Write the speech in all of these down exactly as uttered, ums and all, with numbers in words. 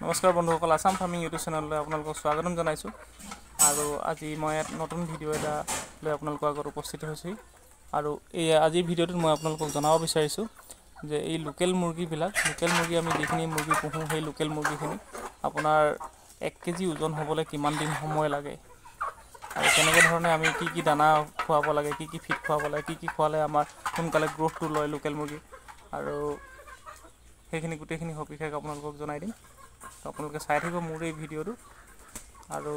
নমস্কাৰ বন্ধুসকল, Assam farming YouTube চেনেললৈ আপোনালোকক স্বাগতম জনাইছোঁ। আৰু আজি মই ইয়াত নতুন ভিডিঅ' এটা লৈ আপোনালোকৰ আগত উপস্থিত হৈছোঁ। আৰু এই আজিৰ ভিডিঅ'টোত মই আপোনালোকক জনাব বিচাৰিছোঁ যে এই লোকেল মুৰ্গীবিলাক, লোকেল মুৰ্গী আমি যিখিনি মুৰ্গী পুহোঁ, সেই লোকেল মুৰ্গীখিনি আপোনাৰ এক কেজি ওজন হ'বলৈ কিমান দিন সময় লাগে আৰু কেনেকৈ ধৰণে আমি কি কি দানা খুৱাব লাগে, কি কি ফিড খুৱাব লাগে, কি কি খোৱালে আমাৰ সোনকালে গ্ৰ'থটো লয় লোকেল মুৰ্গী, আৰু সেইখিনি গোটেইখিনি সবিশেষ আপোনালোকক জনাই দিম। তো আপোনালোকে চাই থাকিব মোৰ এই ভিডিঅ'টো। আৰু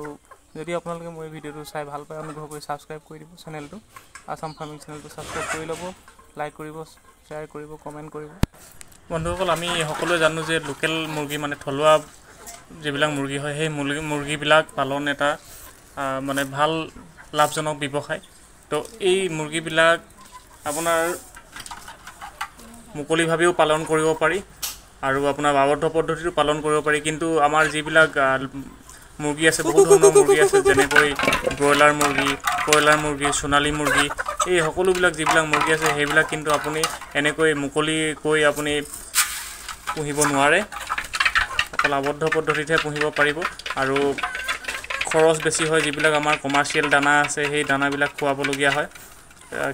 যদি আপোনালোকে মোৰ এই ভিডিঅ'টো চাই ভাল পায়, অনুগ্ৰহ কৰি ছাবস্ক্ৰাইব কৰি দিব চেনেলটো, আছাম ফাৰ্মিং চেনেলটো ছাবস্ক্ৰাইব কৰি ল'ব, লাইক কৰিব, শ্বেয়াৰ কৰিব, কমেণ্ট কৰিব। বন্ধুসকল, আমি সকলোৱে জানো যে লোকেল মুৰ্গী মানে থলুৱা যিবিলাক মুৰ্গী হয়, সেই মুৰ্গী মুৰ্গীবিলাক পালন এটা মানে ভাল লাভজনক ব্যৱসায়। তো এই মুৰ্গীবিলাক আপোনাৰ মুকলিভাৱেও পালন কৰিব পাৰি আৰু আপোনাৰ আৱদ্ধ পদ্ধতিটো পালন কৰিব পাৰি। কিন্তু আমাৰ যিবিলাক মুৰ্গী আছে, বহুত ধৰণৰ মুৰ্গী আছে, যেনেকৈ ব্ৰইলাৰ মুৰ্গী, কয়লাৰ মুৰ্গী, সোণালী মুৰ্গী, এই সকলোবিলাক যিবিলাক মুৰ্গী আছে সেইবিলাক কিন্তু আপুনি এনেকৈ মুকলিকৈ আপুনি পুহিব নোৱাৰে, অকল আৱদ্ধ পদ্ধতিতহে পুহিব পাৰিব। আৰু খৰচ বেছি হয়। যিবিলাক আমাৰ কমাৰ্চিয়েল দানা আছে সেই দানাবিলাক খুৱাবলগীয়া হয়,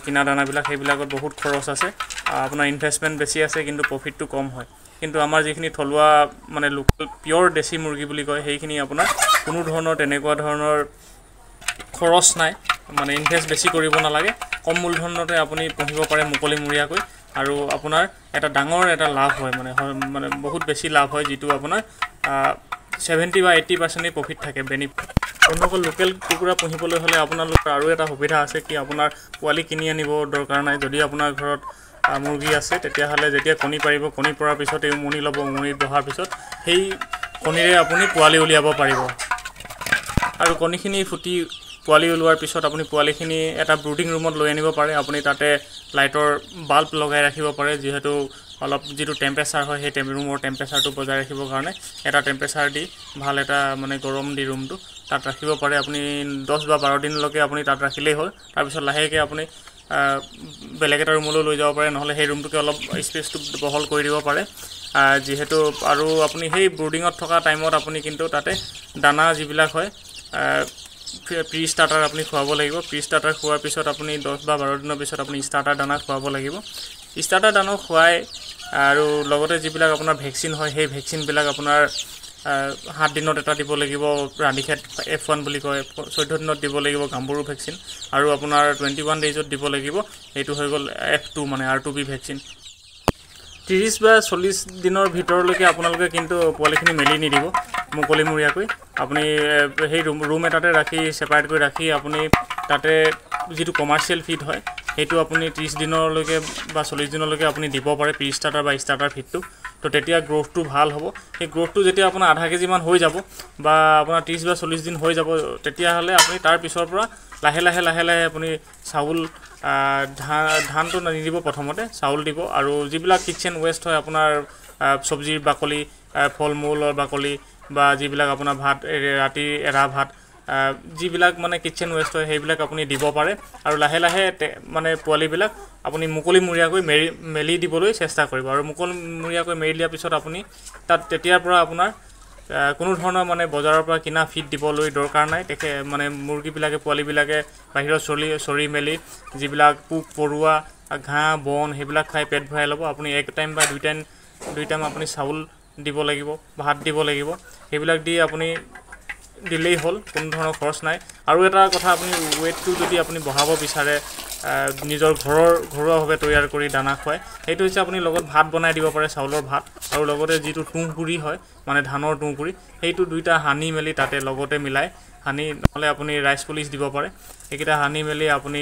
কিনা দানাবিলাক, সেইবিলাকত বহুত খৰচ আছে, আপোনাৰ ইনভেষ্টমেণ্ট বেছি আছে কিন্তু প্ৰফিটটো কম হয়। কিন্তু আমাৰ যিখিনি থলুৱা মানে লোকেল পিয়'ৰ দেশী মুৰ্গী বুলি কয়, সেইখিনি আপোনাৰ কোনো ধৰণৰ তেনেকুৱা ধৰণৰ খৰচ নাই, মানে ইনভেষ্ট বেছি কৰিব নালাগে, কম মূলধনতে আপুনি পুহিব পাৰে মুকলিমূৰীয়াকৈ। আৰু আপোনাৰ এটা ডাঙৰ এটা লাভ হয়, মানে মানে বহুত বেছি লাভ হয়, যিটো আপোনাৰ ছেভেণ্টি বা এইট্টি পাৰ্চেণ্টেই প্ৰফিট থাকে। বেনিফিট। বন্ধুসকল, লোকেল কুকুৰা পুহিবলৈ হ'লে আপোনালোকৰ আৰু এটা সুবিধা আছে কি, আপোনাৰ পোৱালি কিনি আনিব দৰকাৰ নাই। যদি আপোনাৰ ঘৰত মুৰ্গী আছে তেতিয়াহ'লে যেতিয়া কণী পাৰিব, কণী পৰাৰ পিছত এই উমনি ল'ব, উমনি বহাৰ পিছত সেই কণীৰে আপুনি পোৱালি উলিয়াব পাৰিব। আৰু কণীখিনি ফুটি পোৱালি ওলোৱাৰ পিছত আপুনি পোৱালিখিনি এটা ব্ৰুডিং ৰুমত লৈ আনিব পাৰে। আপুনি তাতে লাইটৰ বাল্ব লগাই ৰাখিব পাৰে, যিহেতু অলপ যিটো টেম্পাৰেচাৰ হয় সেই ৰুমৰ টেম্পাৰেচাৰটো বজাই ৰাখিবৰ কাৰণে এটা টেম্পাৰেচাৰ দি ভাল এটা মানে গৰম দি ৰুমটো তাত ৰাখিব পাৰে। আপুনি দহ বা বাৰ দিনলৈকে আপুনি তাত ৰাখিলেই হ'ল। তাৰপিছত লাহেকৈ আপুনি বেলেগ এটা ৰুমলৈ লৈ যাব পাৰে, নহ'লে সেই ৰুমটোকে অলপ স্পেচটো বহল কৰি দিব পাৰে যিহেতু। আৰু আপুনি সেই ব্ৰুডিঙত থকা টাইমত আপুনি কিন্তু তাতে দানা যিবিলাক হয় প্ৰি ষ্টাৰ্টাৰ আপুনি খুৱাব লাগিব। প্ৰি ষ্টাৰ্টাৰ খোৱাৰ পিছত আপুনি দহ বা বাৰ দিনৰ পিছত আপুনি ষ্টাৰ্টাৰ দানা খুৱাব লাগিব। ষ্টাৰ্টাৰ দানা খুৱাই আৰু লগতে যিবিলাক আপোনাৰ ভেকচিন হয় সেই ভেকচিনবিলাক আপোনাৰ সাত দিনত এটা দিব লাগিব, ৰাণীখেত এফ ওৱান বুলি কয়, চৈধ্য দিনত দিব লাগিব গাম্বুৰু ভেকচিন, আৰু আপোনাৰ টুৱেণ্টি ওৱান ডেইজত দিব লাগিব, সেইটো হৈ গ'ল এফ টু মানে আৰ টু বি ভেকচিন। ত্ৰিছ বা চল্লিছ দিনৰ ভিতৰলৈকে আপোনালোকে কিন্তু পোৱালিখিনি মেলি নিদিব মুকলিমূৰীয়াকৈ। আপুনি সেই ৰুম ৰুম এটাতে ৰাখি ছেপাৰেট কৰি ৰাখি আপুনি তাতে যিটো কমাৰ্চিয়েল ফিড হয় সেইটো আপুনি ত্ৰিছ দিনলৈকে বা চল্লিছ দিনলৈকে আপুনি দিব পাৰে প্ৰি ষ্টাৰ্টাৰ বা ষ্টাৰ্টাৰ ফিডটো। তো তেতিয়া গ্ৰ'থটো ভাল হ'ব। সেই গ্ৰ'থটো যেতিয়া আপোনাৰ আধা কেজিমান হৈ যাব বা আপোনাৰ ত্ৰিছ বা চল্লিছ দিন হৈ যাব, তেতিয়াহ'লে আপুনি তাৰ পিছৰ পৰা লাহে লাহে লাহে লাহে আপুনি চাউল, ধান ধানটো নিদিব, প্ৰথমতে চাউল দিব। আৰু যিবিলাক কিটচেন ৱেষ্ট হয় আপোনাৰ চব্জিৰ বাকলি, ফল মূলৰ বাকলি বা যিবিলাক আপোনাৰ ভাত, ৰাতি এৰা ভাত, যিবিলাক মানে কিটচেন ৱেষ্ট হয় সেইবিলাক আপুনি দিব পাৰে। আৰু লাহে লাহে মানে পোৱালিবিলাক আপুনি মুকলিমূৰীয়াকৈ মেৰি মেলি দিবলৈ চেষ্টা কৰিব। আৰু মুকলিমূৰীয়াকৈ মেলি দিয়াৰ পিছত আপুনি তাত তেতিয়াৰ পৰা আপোনাৰ কোনো ধৰণৰ মানে বজাৰৰ পৰা কিনা ফিড দিবলৈ দৰকাৰ নাই। তেখে মানে মুৰ্গীবিলাকে পোৱালিবিলাকে বাহিৰত চলি চৰি মেলি যিবিলাক পোক পৰুৱা, ঘাঁহ বন সেইবিলাক খাই পেট ভৰাই ল'ব। আপুনি এক টাইম বা দুই টাইম দুই টাইম আপুনি চাউল দিব লাগিব, ভাত দিব লাগিব, সেইবিলাক দি আপুনি দিলেই হ'ল, কোনো ধৰণৰ খৰচ নাই। আৰু এটা কথা, আপুনি ৱেইটটো যদি আপুনি বঢ়াব বিচাৰে নিজৰ ঘৰৰ ঘৰুৱাভাৱে তৈয়াৰ কৰি দানা খুৱাই, সেইটো হৈছে আপুনি লগত ভাত বনাই দিব পাৰে, চাউলৰ ভাত, আৰু লগতে যিটো তুঁহগুড়ি হয় মানে ধানৰ তুঁহগুড়ি, সেইটো দুইটা সানি মেলি তাতে লগতে মিলাই সানি, নহ'লে আপুনি ৰাইচ পলিচ দিব পাৰে, সেইকেইটা সানি মেলি আপুনি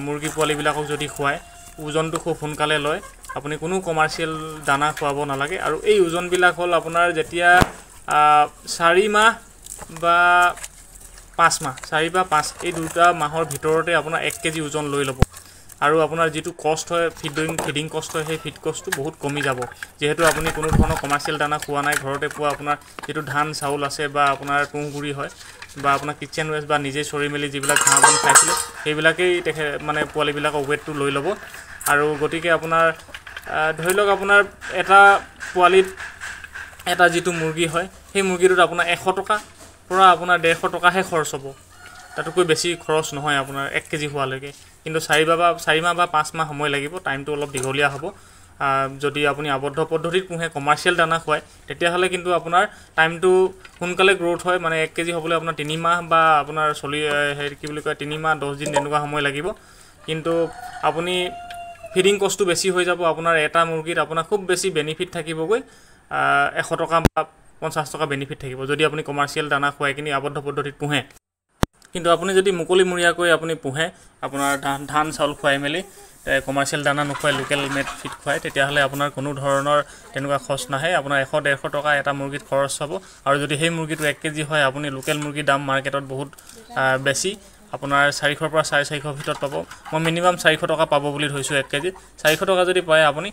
মুৰ্গী পোৱালিবিলাকক যদি খুৱায় ওজনটো খুব সোনকালে লয়। আপুনি কোনো কমাৰ্চিয়েল দানা খুৱাব নালাগে। আৰু এই ওজনবিলাক হ'ল আপোনাৰ যেতিয়া চাৰি মাহ বা পাঁচ মাহ, চাৰি বা পাঁচ এই দুটা মাহৰ ভিতৰতে আপোনাৰ এক কেজি ওজন লৈ ল'ব। আৰু আপোনাৰ যিটো কষ্ট হয় ফিডিং ফিডিং কষ্ট হয়, সেই ফিড কষ্টটো বহুত কমি যাব, যিহেতু আপুনি কোনো ধৰণৰ কমাৰ্চিয়েল দানা খোৱা নাই, ঘৰতে পোৱা আপোনাৰ যিটো ধান চাউল আছে বা আপোনাৰ তুঁহগুড়ি হয় বা আপোনাৰ কিটচেন ৱেষ্ট বা নিজে চৰি মেলি যিবিলাক ঘাঁহ বন খাইছিলে সেইবিলাকেই তেখেত মানে পোৱালিবিলাকৰ ৱেইটটো লৈ ল'ব। আৰু গতিকে আপোনাৰ ধৰি লওক আপোনাৰ এটা পোৱালিত এটা যিটো মুৰ্গী হয় সেই মুৰ্গীটোত আপোনাৰ এশ টকাৰ পৰা আপোনাৰ ডেৰশ টকাহে খৰচ হ'ব, তাতোতকৈ বেছি খৰচ নহয় আপোনাৰ এক কেজি হোৱালৈকে। কিন্তু চাৰি বা চাৰি মাহ বা পাঁচ মাহ সময় লাগিব, টাইমটো অলপ দীঘলীয়া হ'ব। যদি আপুনি আবদ্ধ পদ্ধতিত পোহে, কমাৰ্চিয়েল দানা খুৱায়, তেতিয়াহ'লে কিন্তু আপোনাৰ টাইমটো সোনকালে গ্ৰ'থ হয়। মানে এক কেজি হ'বলৈ আপোনাৰ তিনি মাহ বা আপোনাৰ চলি হেৰি কি বুলি কয় তিনি মাহ দহ দিন তেনেকুৱা সময় লাগিব। কিন্তু আপুনি ফিডিং কষ্টটো বেছি হৈ যাব। আপোনাৰ এটা মুৰ্গীত আপোনাৰ খুব বেছি বেনিফিট থাকিবগৈ এশ টকা বা পঞ্চাছ টকা বেনিফিট থাকিব, যদি আপুনি কমাৰ্চিয়েল দানা খুৱাই কিনি আবদ্ধ পদ্ধতিত পোহে। কিন্তু আপুনি যদি মুকলিমূৰীয়াকৈ আপুনি পোহে, আপোনাৰ ধান ধান চাউল খুৱাই মেলি, কমাৰ্চিয়েল দানা নোখোৱাই লোকেল মেড ফিড খুৱাই, তেতিয়াহ'লে আপোনাৰ কোনো ধৰণৰ তেনেকুৱা খৰচ নাহে। আপোনাৰ এশ ডেৰশ টকা এটা মুৰ্গীত খৰচ হ'ব। আৰু যদি সেই মুৰ্গীটো এক কেজি হয়, আপুনি লোকেল মুৰ্গীৰ দাম মাৰ্কেটত বহুত বেছি, আপোনাৰ চাৰিশৰ পৰা চাৰে চাৰিশৰ ভিতৰত পাব। মই মিনিমাম চাৰিশ টকা পাব বুলি ধৰিছোঁ এক কেজি। চাৰিশ টকা যদি পায় আপুনি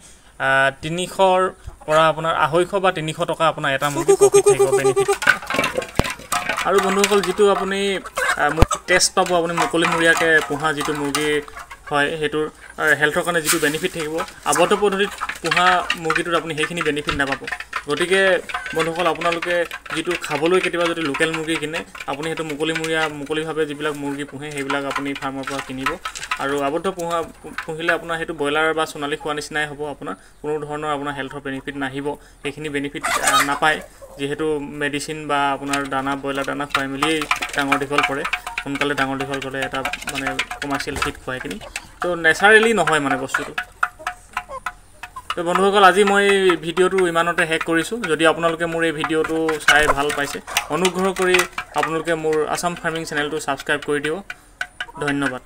তিনিশৰ পৰা আপোনাৰ আঢ়ৈশ বা তিনিশ টকা আপোনাৰ এটা মুৰ্গী প্ৰফিট থাকিব, বেনিফিট। আৰু বন্ধুসকল, যিটো আপুনি টেষ্ট পাব, আপুনি মুকলিমূৰীয়াকৈ পোহা যিটো মুৰ্গী হয় সেইটোৰ হেল্থৰ কাৰণে যিটো বেনিফিট থাকিব, আবদ্ধ পদ্ধতিত পোহা মুৰ্গীটোত আপুনি সেইখিনি বেনিফিট নাপাব। গতিকে বন্ধুসকল, আপোনালোকে যিটো খাবলৈ কেতিয়াবা যদি লোকেল মুৰ্গী কিনে, আপুনি সেইটো মুকলিমূৰীয়া মুকলিভাৱে যিবিলাক মুৰ্গী পোহে সেইবিলাক আপুনি ফাৰ্মৰ পৰা কিনিব। আৰু আবদ্ধ পোহা পুহিলে আপোনাৰ সেইটো ব্ৰইলাৰ বা সোণালী খোৱা নিচিনাই হ'ব, আপোনাৰ কোনো ধৰণৰ আপোনাৰ হেল্থৰ বেনিফিট নাহিব, সেইখিনি বেনিফিট নাপায়। যিহেতু মেডিচিন বা আপোনাৰ দানা, ব্ৰইলাৰ দানা খুৱাই মেলিয়েই ডাঙৰ দীঘল কৰে, সোনকালে ডাঙৰ দীঘল কৰে এটা মানে কমাৰ্চিয়েল ফিড খুৱাই কিনি, তো নেচাৰেলি নহয় মানে বস্তুটো। তো বন্ধুসকল, আজি মই ভিডিঅ'টো ইমানতে শেষ কৰিছোঁ। যদি আপোনালোকে মোৰ এই ভিডিঅ'টো চাই ভাল পাইছে, অনুগ্ৰহ কৰি আপোনালোকে মোৰ আছাম ফাৰ্মিং চেনেলটো ছাবস্ক্ৰাইব কৰি দিব। ধন্যবাদ।